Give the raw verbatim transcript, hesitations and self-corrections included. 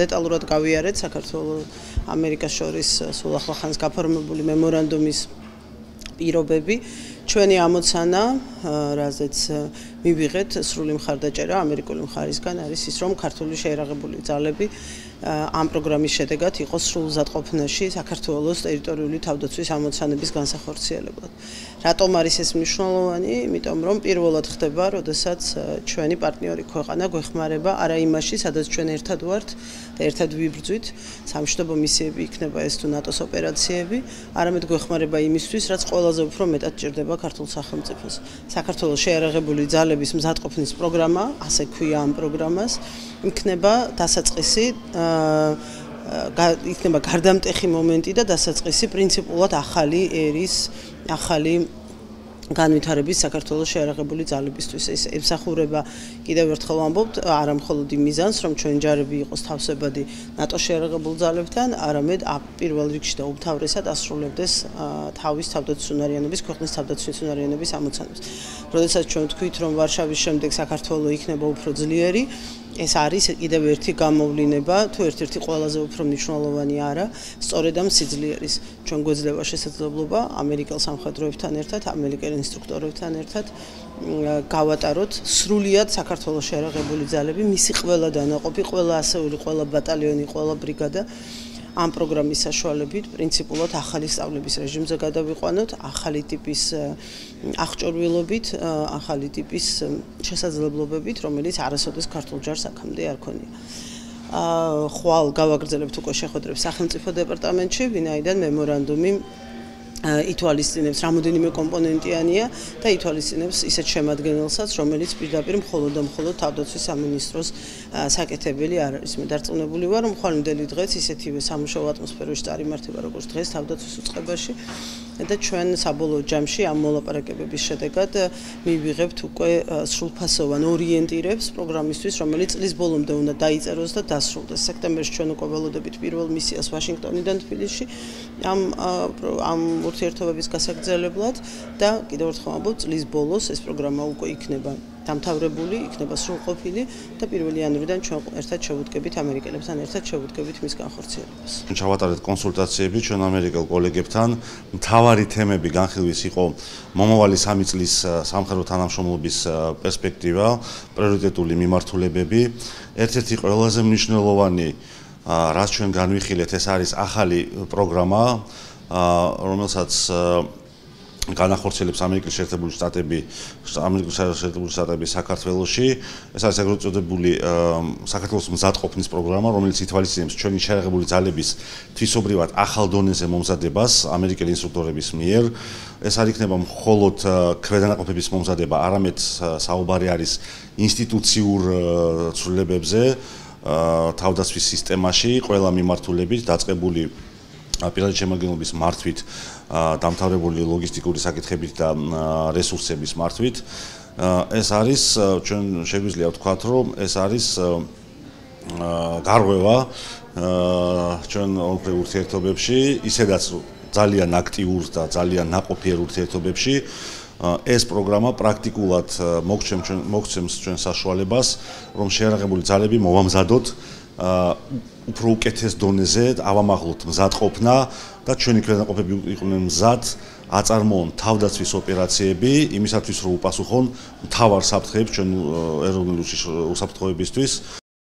დეტალურად გავიარეთ საქართველოს ამერიკას შორის სულ ახლახანს გაფორმებული მემორანდუმის პირობები. ჩვენი ამოცანა, რაზეც მივიღეთ სრული მხარდაჭერა ამერიკული მხარისგან არის ის, რომ ქართული შეიარაღებული ძალები ამ პროგრამის შედეგად იყოს სრულზადყოფნაში საქართველოს ტერიტორიული თავდაცვის ამოცანების განსახორციელებლად. რატომ არის ეს მნიშვნელოვანი? იმიტომ რომ პირველად ხდება, როდესაც ჩვენი პარტნიორი ქვეყანა გვეხმარება არა იმაში, სადაც ჩვენ ერთად ვართ და ერთად ვიბრძვით, სამშვიდობო მისიები იქნება ეს თუ ნატოს ოპერაციები, არამედ გვეხმარება იმისთვის, რაც ყველაზე უფრო მეტად ჭირდება ქართულ სახელმწიფოს. საქართველოს შეიარაღებული ძალების მზადყოფნის პროგრამა, ასე ქვია ამ პროგრამას, იქნება დასაწყისი იქნება გარდამტეხი მომენტი და დასაწყისი პრინციპულად ახალი ერის, ახალი განვითარების საქართველოს შეიარაღებული ძალებისთვის. ეს ემსახურება კიდევ ერთხელ ვამბობთ, არა მხოლოდ იმ მიზანს, რომ ჩვენი ჯარები იყოს თავსებადი ნატოს შეიარაღებულ ძალებთან, არამედ პირველ რიგში და უმთავრესად ასრულებდეს თავის თავდაცვის უნარიანობის, ქვეყნის თავდაცვის უნარიანობის ამოცანებს. როდესაც ჩვენ ვთქვით, რომ ვარშავის შემდეგ საქართველო იქნება უფრო ძლიერი, ეს არის კიდევ ერთი გამოვლინება, თუ ერთ-ერთი ყველაზე უფრო მნიშვნელოვანი არა, სწორედ ამ სიძლიერის. ჩვენ გვეძლევა შესაძლებლობა ამერიკელ სამხედროებთან ერთად, ამერიკელ ინსტრუქტორებთან ერთად გავატაროთ სრულიად საქართველოს შეიარაღებული ძალები, მისი ყველა დანაყოფი, ყველა ასეული, ყველა ბატალიონი, ყველა ბრიგადა ამ პროგრამის საშუალებით პრინციპულად ახალი სწავლების რეჟიმზე გადავიყვანოთ, ახალი ტიპის აღჭურვილობით, ახალი ტიპის შესაძლებლობებით, რომელიც არასოდეს ქართულ ჯარს აქამდე არ ქონია. ხვალ გავაგრძელებთ უკვე შეხვედრებს სახელმწიფო დეპარტამენტში, ვინაიდან მემორანდუმი ითვალისწინებს რამოდენიმე კომპონენტიანია და ითვალისწინებს ისეთ შემადგენელსაც, რომელიც პირდაპირ მხოლოდ და მხოლოდ თავდაცვის სამინისტროს საკეთებელი არ არის. მე დარწმუნებული ვარ, რომ ხვალინდელი დღეს ისეთივე სამუშაო ატმოსფეროში წარიმართება, როგორც დღეს თავდაცვის უწყებაში და ჩვენ საბოლოო ჯამში ამ მოლაპარაკებების შედეგად მივიღებთ უკვე სრულფასოვან ორიენტირებს პროგრამისთვის, რომელიც წლის ბოლომდე უნდა დაიწეროს და დასრულდეს. სექტემბერში ჩვენ უკვე ველოდებით პირველ მისიას ვაშინგტონიდან თბილისში ამ ამ ურთიერთობების გასაგრძელებლად და კიდევ ერთხელ ვამბობ, წლის ბოლოს ეს პროგრამა უკვე იქნება დამთავრებული, იქნება სრულყოფილი და პირველი იანვრიდან ჩვენ ერთად შევუდგებით ამერიკელებთან ერთად შევუდგებით მის განხორციელებას. ჩავატარეთ კონსულტაციები ჩვენ ამერიკელ კოლეგებთან. მთავარი თემები განხილვის იყო მომავალი სამი წლის სამხედრო თანამშრომლობის პერსპექტივა, პრიორიტეტული მიმართულებები. ერთ-ერთი ყველაზე მნიშვნელოვანი, რაც ჩვენ განვიხილეთ, ეს არის ახალი პროგრამა, რომელსაც განახორციელებს ამერიკის შეერთებული შტატები, ამერიკის შეერთებული შტატები საქართველოში. ეს არის ეგრეთ წოდებული საქართველოს მზადყოფნის პროგრამა, რომელიც ითვალისწინებს ჩვენი შეიარაღებული ძალების თვისობრივად ახალ დონეზე მომზადებას ამერიკელი ინსტრუქტორების მიერ. ეს არ იქნება მხოლოდ ქვედანაყოფების მომზადება, არამედ საუბარი არის ინსტიტუციურ ცვლილებებზე თავდაცვის სისტემაში, ყველა მიმართულებით დაწყებული პირადი შემადგენლობის მართვით, დამთავრებული ლოგისტიკური საკითხებით და რესურსების მართვით. ეს არის, ჩვენ შეგვიძლია ვთქვათ, რომ ეს არის გარღვევა ჩვენ ორ ურთიერთობებში, ისედაც ძალიან აქტიურ და ძალიან ნაყოფიერ ურთიერთობებში. ეს პროგრამა პრაქტიკულად მოგცემს ჩვენ საშუალებას, რომ შეიარაღებული ძალები მოვამზადოთ უფრო უკეთეს დონეზე ავამაღლოთ მზადყოფნა და ჩვენი ქვედანაყოფები იყვნენ მზად აწარმოონ თავდაცვის ოპერაციები იმისათვის რომ უპასუხონ მთავარ საფრთხეებს ჩვენ ეროვნული უსაფრთხოებისთვის.